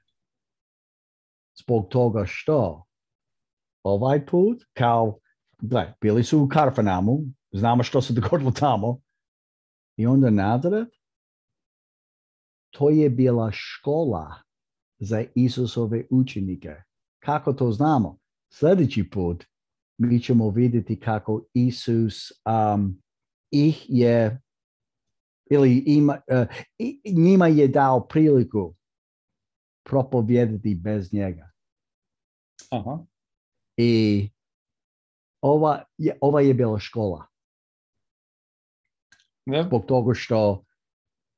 Zbog toga što? Ovaj put, kao, gledaj, bili su u Karfanamu, znamo što se dogodilo tamo. I onda Nazaret, to je bila škola za Isusove učenike. Kako to znamo? Sljedeći put mi ćemo vidjeti kako Isus um, ih je, ili ima, uh, njima je dao priliku propovijedati bez njega. Aha. I ova je, ova je bila škola. Ne. Zbog toga što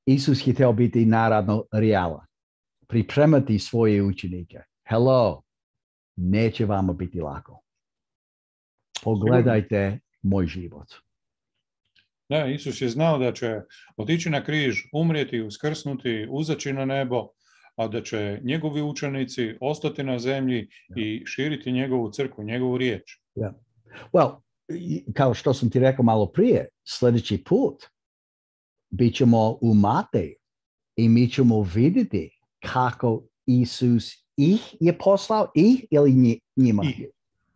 Isus je htio biti naravno realan. Pripremati svoje učenike. Hello, neće vama biti lako. Pogledajte moj život. Da, Isus je znao da će otići na križ, umrijeti, uskrsnuti, uzaći na nebo, a da će njegovi učenici ostati na zemlji yeah. i širiti njegovu crkvu, njegovu riječ. Yeah. Well, kao što sam ti rekao malo prije, sljedeći put bit ćemo u Mateju i mi ćemo vidjeti kako Isus ih je poslao, ih ili njima? Ih,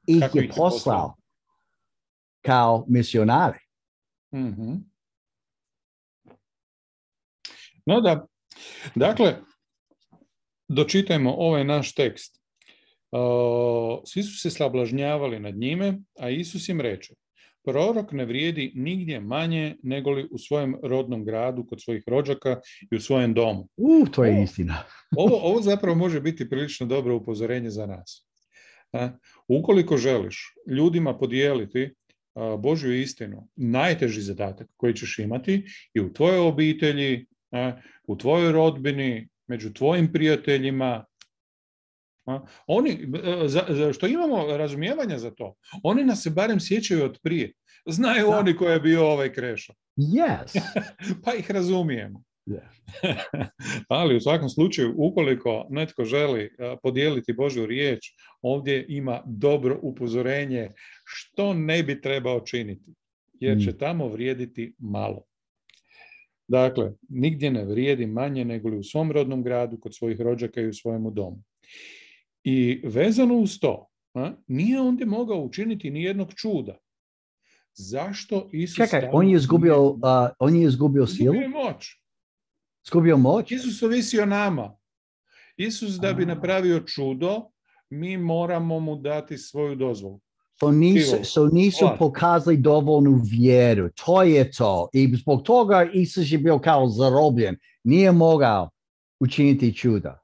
ih kako je ih je poslao, poslao kao misionari. Mm-hmm. No da, dakle, dočitajmo ovaj naš tekst. Uh, svi su se sablažnjavali nad njime, a Isus im reče: prorok ne vrijedi nigdje manje negoli u svojem rodnom gradu, kod svojih rođaka i u svojem domu. Uh, to je ovo, istina. ovo, ovo zapravo može biti prilično dobro upozorenje za nas. A, ukoliko želiš ljudima podijeliti a, Božju istinu, najteži zadatak koji ćeš imati i u tvojoj obitelji, a, u tvojoj rodbini, među tvojim prijateljima, a, oni, za, za, što imamo razumijevanja za to, oni nas se barem sjećaju od prije. Znaju da. Oni ko je bio ovaj Krešo. Yes. Pa ih razumijemo. Yeah. Ali u svakom slučaju, ukoliko netko želi podijeliti Božju riječ, ovdje ima dobro upozorenje što ne bi trebao činiti, jer će tamo vrijediti malo. Dakle, nigdje ne vrijedi manje nego li u svom rodnom gradu, kod svojih rođaka i u svojemu domu. I vezano uz to, a, nije ondje mogao učiniti ni jednog čuda. Zašto Isus... Čekaj, on je izgubio, uh, on je izgubio silu? Izgubio moć. Izgubio moć? Isus ovisi o nama. Isus da bi napravio čudo, mi moramo mu dati svoju dozvolu. So nisu, so nisu pokazali dovoljnu vjeru. To je to. I zbog toga Isus je bio kao zarobljen. Nije mogao učiniti čuda.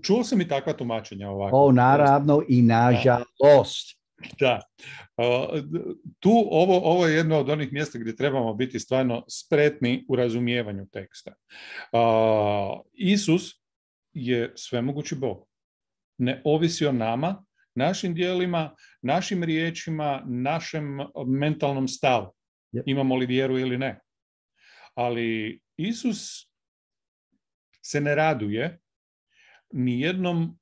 Čuo sam i takva tumačenja ovako. O, naravno i nažalost. Da. Tu ovo, ovo je jedno od onih mjesta gdje trebamo biti stvarno spretni u razumijevanju teksta. Isus je svemogući Bog. Ne ovisi o nama, našim dijelima, našim riječima, našem mentalnom stavu. Yep. Imamo li vjeru ili ne. Ali Isus se ne raduje ni jednom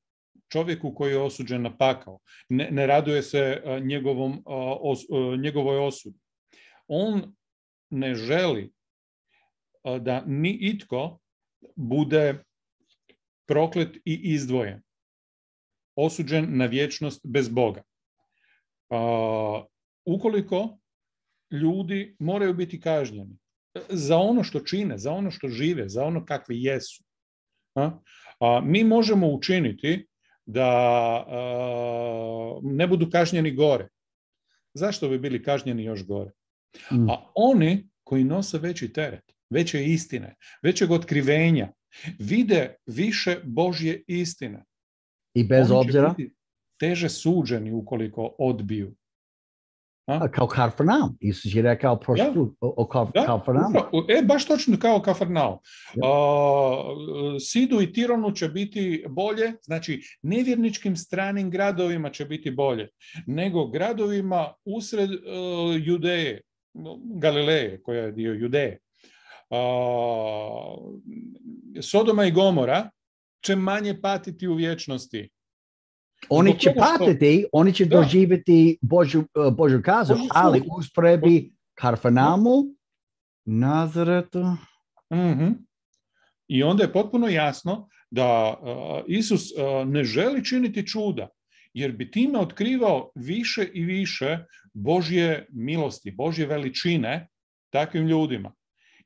čovjeku koji je osuđen na pakao. Ne, ne raduje se njegovom, os, njegovoj osudi. On ne želi da ni itko bude proklet i izdvojen, osuđen na vječnost bez Boga. Uh, ukoliko ljudi moraju biti kažnjeni za ono što čine, za ono što žive, za ono kakvi jesu. A? A, mi možemo učiniti da a, ne budu kažnjeni gore. Zašto bi bili kažnjeni još gore? Mm. A oni koji nose veći teret, veće istine, većeg otkrivenja, vide više Božje istine. I bez obzira? Teže suđeni ukoliko odbiju. A? Kao Kafarnaum. Isus je rekao prošli put o Kafarnaumu. E, baš točno kao Kafarnaum. Uh, Sidu i Tironu će biti bolje, znači nevjerničkim stranim gradovima će biti bolje, nego gradovima usred uh, Judeje, Galileje, koja je dio Judeje. Uh, Sodoma i Gomora će manje patiti u vječnosti. Oni će patiti, oni će da. doživjeti Božju, Božju kazu, Božju ali usporedbi Kafarnaumu, Nazaretu. Mm-hmm. I onda je potpuno jasno da uh, Isus uh, ne želi činiti čuda, jer bi time otkrivao više i više Božje milosti, Božje veličine takvim ljudima.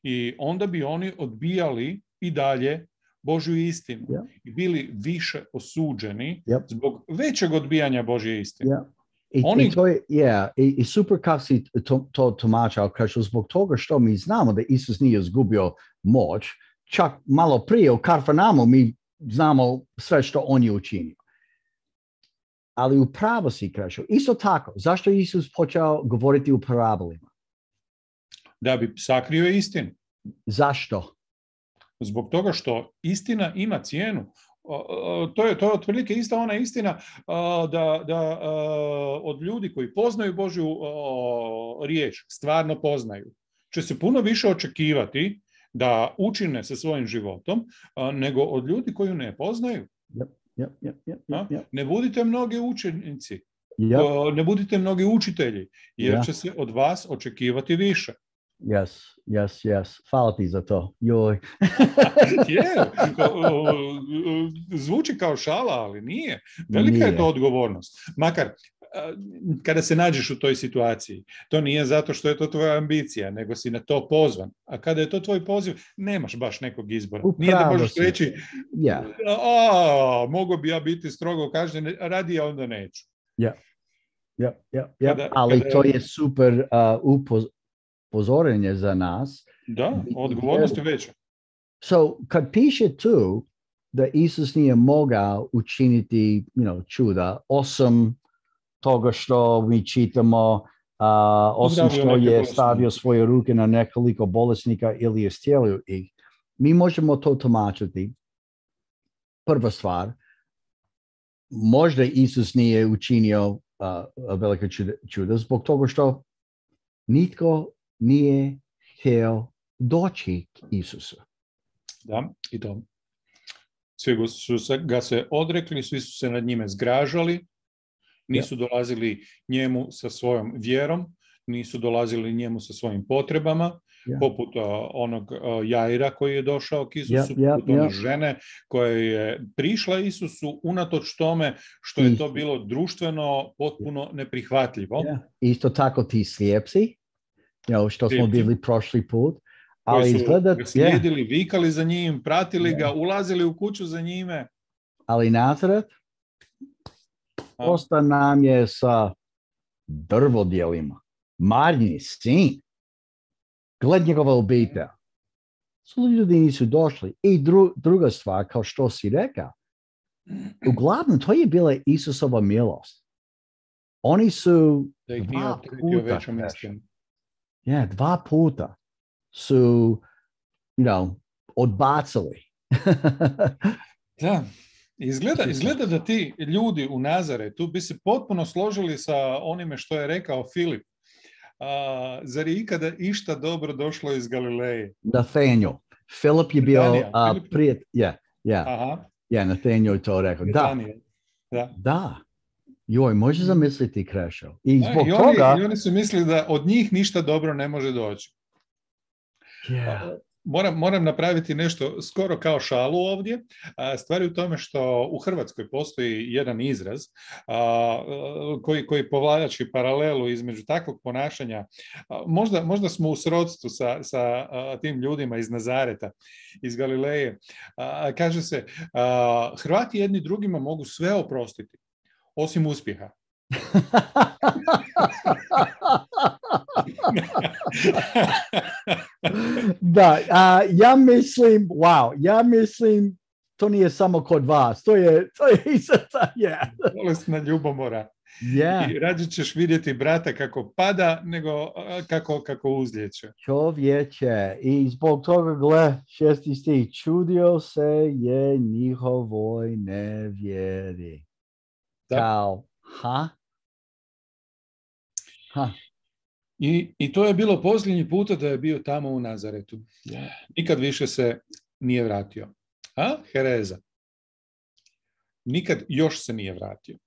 I onda bi oni odbijali i dalje Božju istinu yeah. i bili više osuđeni yep. zbog većeg odbijanja Božje istine. Yeah. I, Oni... i, to je, yeah, i, i super kako si to, to tumačao, kaže zbog toga što mi znamo da Isus nije izgubio moć, čak malo prije u Kafarnaumu mi znamo sve što on je učinio. Ali u pravo si kaže, isto tako, zašto je Isus počeo govoriti u parabolima? Da bi sakrio istinu. Zašto? Zbog toga što istina ima cijenu. To je, to je otprilike ista ona istina da, da od ljudi koji poznaju Božju riječ, stvarno poznaju, će se puno više očekivati da učine sa svojim životom nego od ljudi koji ne poznaju. Yep, yep, yep, yep, yep. Ne budite mnogi učenici, yep. ne budite mnogi učitelji, jer yeah. će se od vas očekivati više. Yes, yes, yes. Hvala ti za to. Joj. Je, zvuči kao šala, ali nije. Velika nije. Je to odgovornost. Makar, kada se nađeš u toj situaciji, to nije zato što je to tvoja ambicija, nego si na to pozvan. A kada je to tvoj poziv, nemaš baš nekog izbora. Upravo nije da možeš si. Reći, yeah. a, mogu bi ja biti strogo kažnjen, radi ja onda neću. Yeah. Yeah, yeah, yeah. Kada, ali kada... to je super uh, upoz upozorenje za nas. Da, odgovornost je veća. So, kad piše tu da Isus nije mogao učiniti you know, čuda, osim toga što mi čitamo, uh, osim što je stavio svoje ruke na nekoliko bolesnika ili je iscijelio ih, mi možemo to tumačiti. Prva stvar, možda Isus nije učinio uh, velika čuda, čuda zbog toga što nitko nije htio doći k Isusu. Da, i to. Svi su se, ga se odrekli, svi su se nad njime zgražali, nisu ja. dolazili njemu sa svojom vjerom, nisu dolazili njemu sa svojim potrebama, ja. poput uh, onog uh, Jaira koji je došao k Isusu, ja, ja, poput one ja. žene koja je prišla Isusu unatoč tome što je to bilo društveno potpuno neprihvatljivo. Ja. Isto tako ti slijepci, you know, što smo bili prošli put, ali su izgleda, ga slijedili, yeah. vikali za njim, pratili yeah. ga, ulazili u kuću za njime. Ali Nazaret posta nam je sa drvodjelima. Marnji sin. Gled njegova obitelj. Su ljudi nisu došli. I dru, druga stvar, kao što si rekao, uglavnom to je bila Isusova milost. Oni su da ih nije opteretio većom istinom. Yeah, dva puta su, you know, odbacili. Da, izgleda, izgleda da ti ljudi u Nazaretu bi se potpuno složili sa onime što je rekao Filip. A, zar je ikada išta dobro došlo iz Galileje? Nathaniel. Filip je bio Nathaniel, uh, Filip- prijet, ja, ja, Aha, ja, Nathaniel je to rekao. Da, Nathaniel. Da. da. Joj, može zamisliti, Krešo. I Da, zbog i, oni, toga... I oni su mislili da od njih ništa dobro ne može doći. Yeah. Moram, moram napraviti nešto skoro kao šalu ovdje. Stvar je u tome što u Hrvatskoj postoji jedan izraz koji, koji povlači paralelu između takvog ponašanja. Možda, možda smo u srodstvu sa, sa tim ljudima iz Nazareta, iz Galileje. Kaže se, Hrvati jedni drugima mogu sve oprostiti, osim uspjeha. Da, a, ja mislim, wow, ja mislim, to nije samo kod vas, to je, to je isto, yeah. Bolesna ljubomora. Yeah. I rađe ćeš vidjeti brata kako pada, nego kako, kako uzlijeće. Čovječe, i zbog toga, gle, šesti stih, čudio se je njihovoj nevjeri. Da. Kao, ha? Ha. I, I to je bilo posljednji puta da je bio tamo u Nazaretu. Yeah. Nikad više se nije vratio. A? Hereza. Nikad još se nije vratio.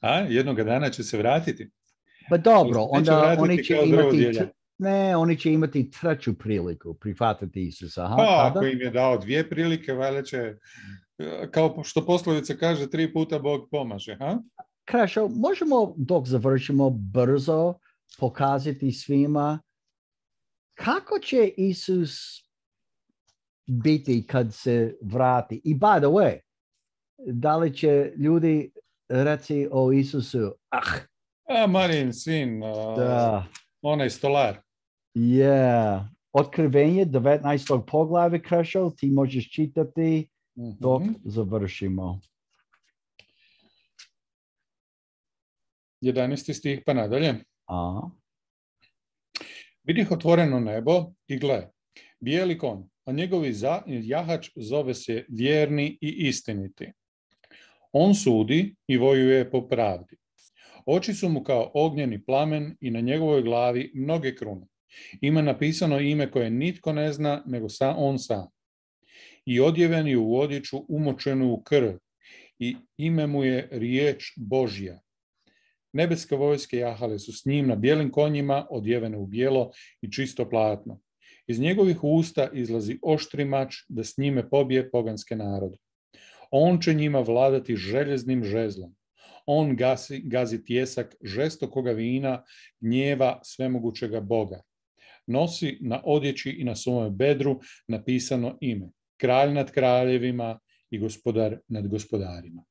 A? Jednoga dana će se vratiti. Pa dobro, onda oni će imati, t- ne, oni će imati treću priliku prihvatiti Isusa. Aha, pa, kada? ako im je dao dvije prilike, valjda će, kao što poslovica kaže, tri puta Bog pomaže. Ha? Krešo, možemo dok završimo brzo pokazati svima kako će Isus biti kad se vrati. I by the way, da li će ljudi reći o Isusu, ah, A Marin sin, da, onaj stolar. yeah. Otkrivenje devetnaestog poglavlja, Krešo, ti možeš čitati dok mm-hmm. završimo. jedanaesti stih pa nadalje. A. Vidih otvoreno nebo i gle, bijeli konj, a njegovi za, jahač zove se vjerni i istiniti. On sudi i vojuje po pravdi. Oči su mu kao ognjeni plamen i na njegovoj glavi mnoge krune. Ima napisano ime koje nitko ne zna, nego sam on sam. I odjeven je u odjeću umočenu u krv i ime mu je riječ Božja. Nebeske vojske jahale su s njim na bijelim konjima, odjevene u bijelo i čisto platno. Iz njegovih usta izlazi oštri mač da s njime pobije poganske narode. On će njima vladati željeznim žezlom. On gazi, gazi tjesak žestokoga vina, gnjeva svemogućega Boga. Nosi na odjeći i na svome bedru napisano ime. Kralj nad kraljevima i gospodar nad gospodarima.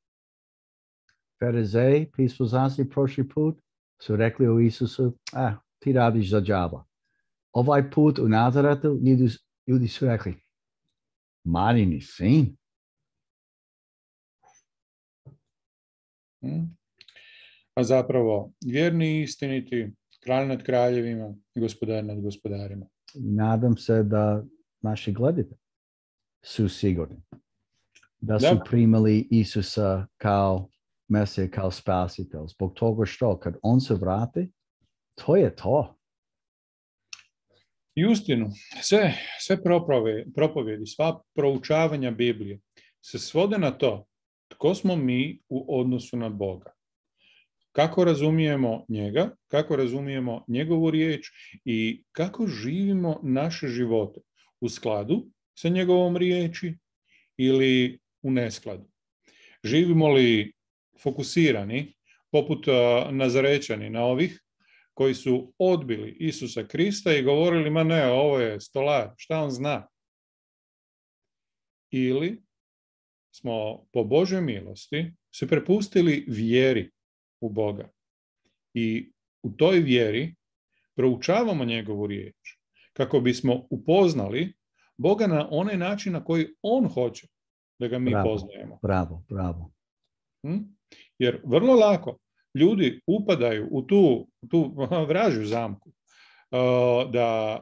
Farizeji, pismoznanstvi prošli put, su rekli o Isusu, ah, ti radiš za džaba. Ovaj put u Nazaretu ljudi, ljudi su rekli, Marini sin. Hmm. A zapravo, vjerni i istiniti, kralj nad kraljevima i gospodar nad gospodarima. Nadam se da naši gledatelji su sigurni da su da. primili Isusa kao Mesija, kao spasitelj. Zbog toga što kad on se vrati, to je to. I uistinu, sve, sve propovjedi, sva proučavanja Biblije se svode na to tko smo mi u odnosu na Boga. Kako razumijemo njega, kako razumijemo njegovu riječ i kako živimo naše živote u skladu sa njegovom riječi ili u neskladu. Živimo li fokusirani, poput Nazarećani na ovih koji su odbili Isusa Krista i govorili, ma ne, ovo je stolar, šta on zna? Ili smo po Božoj milosti se prepustili vjeri u Boga i u toj vjeri proučavamo njegovu riječ kako bismo upoznali Boga na onaj način na koji on hoće da ga mi bravo, poznajemo. Bravo, bravo. Hm? Jer vrlo lako ljudi upadaju u tu, tu vražju zamku, da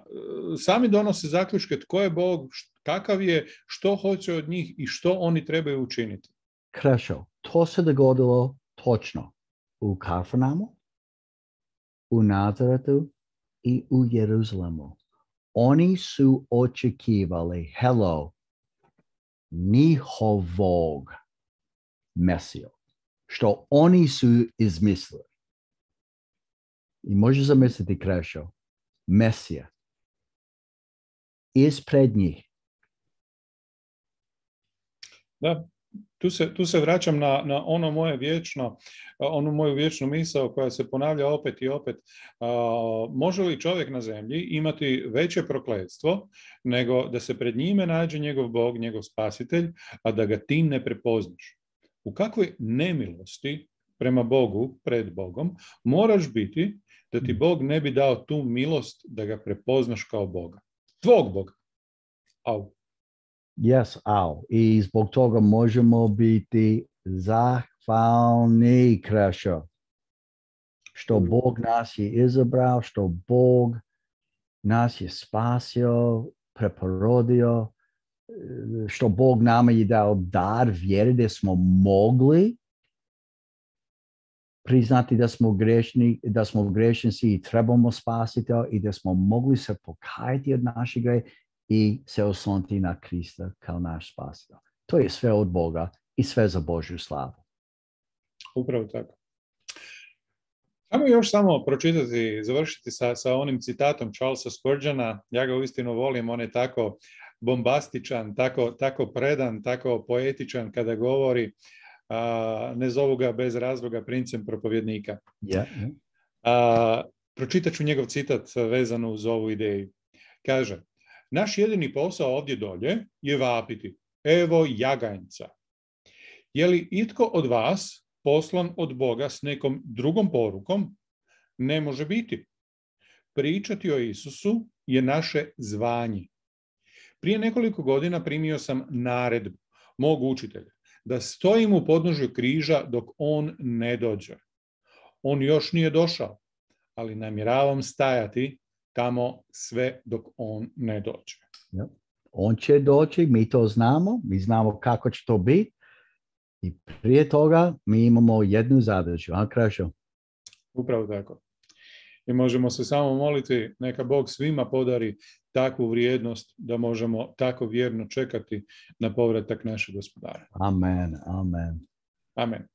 sami donose zaključke tko je Bog, kakav je, što hoće od njih i što oni trebaju učiniti. Krešo, to se dogodilo točno u Kafarnaumu, u Nazaretu i u Jeruzalemu. Oni su očekivali, hello, njihovog Mesiju, što oni su izmislili. I možeš zamisliti, Krešo, Mesija ispred njih. Da, tu se, tu se vraćam na, na ono moje vječno, onu moju vječnu misao koja se ponavlja opet i opet. A, može li čovjek na zemlji imati veće prokletstvo nego da se pred njime nađe njegov Bog, njegov spasitelj, a da ga ti ne prepoznaš? U kakvoj nemilosti prema Bogu, pred Bogom, moraš biti da ti Bog ne bi dao tu milost da ga prepoznaš kao Boga. Tvog Boga. Au. Yes, au. I zbog toga možemo biti zahvalni, Krešo, što Bog nas je izabrao, što Bog nas je spasio, preporodio, što Bog nama je dao dar vjere da smo mogli priznati da smo grešni, da smo grešnici i trebamo spasiti i da smo mogli se pokajati od našeg greha i se osloniti na Krista kao naš spasitelj. To je sve od Boga i sve za Božju slavu. Upravo tako. Ajmo još samo pročitati, završiti sa, sa onim citatom Charlesa Spurgeona. Ja ga uistinu volim, on je tako bombastičan, tako, tako predan, tako poetičan kada govori. Uh, ne zovu ga bez razloga princem propovjednika. Yeah, yeah. Uh, pročitat ću njegov citat vezano uz ovu ideju. Kaže, naš jedini posao ovdje dolje je vapiti. Evo jaganjca. Je li itko od vas poslan od Boga s nekom drugom porukom? Ne može biti. Pričati o Isusu je naše zvanje. Prije nekoliko godina primio sam naredbu mog učitelja da stojim u podnožju križa dok on ne dođe. On još nije došao, ali namjeravam stajati tamo sve dok on ne dođe. Ja. On će doći, mi to znamo, mi znamo kako će to biti i prije toga mi imamo jednu zadaću, a Krešo? Upravo tako. I možemo se samo moliti, neka Bog svima podari takvu vrijednost da možemo tako vjerno čekati na povratak našeg Gospodara. Amen, amen. Amen.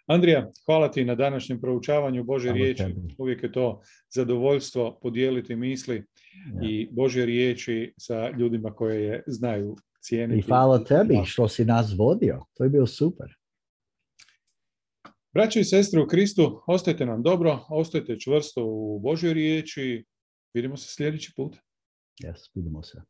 Andrija, hvala ti na današnjem proučavanju Božje Hvala riječi. tebi. Uvijek je to zadovoljstvo podijeliti misli Ja. i Božje riječi sa ljudima koje je znaju cijeniti. I hvala tebi što si nas vodio. To je bilo super. Braćo i sestre u Kristu, ostajte nam dobro, ostajte čvrsto u Božjoj riječi. Vidimo se sljedeći put. Yes, vidimo se.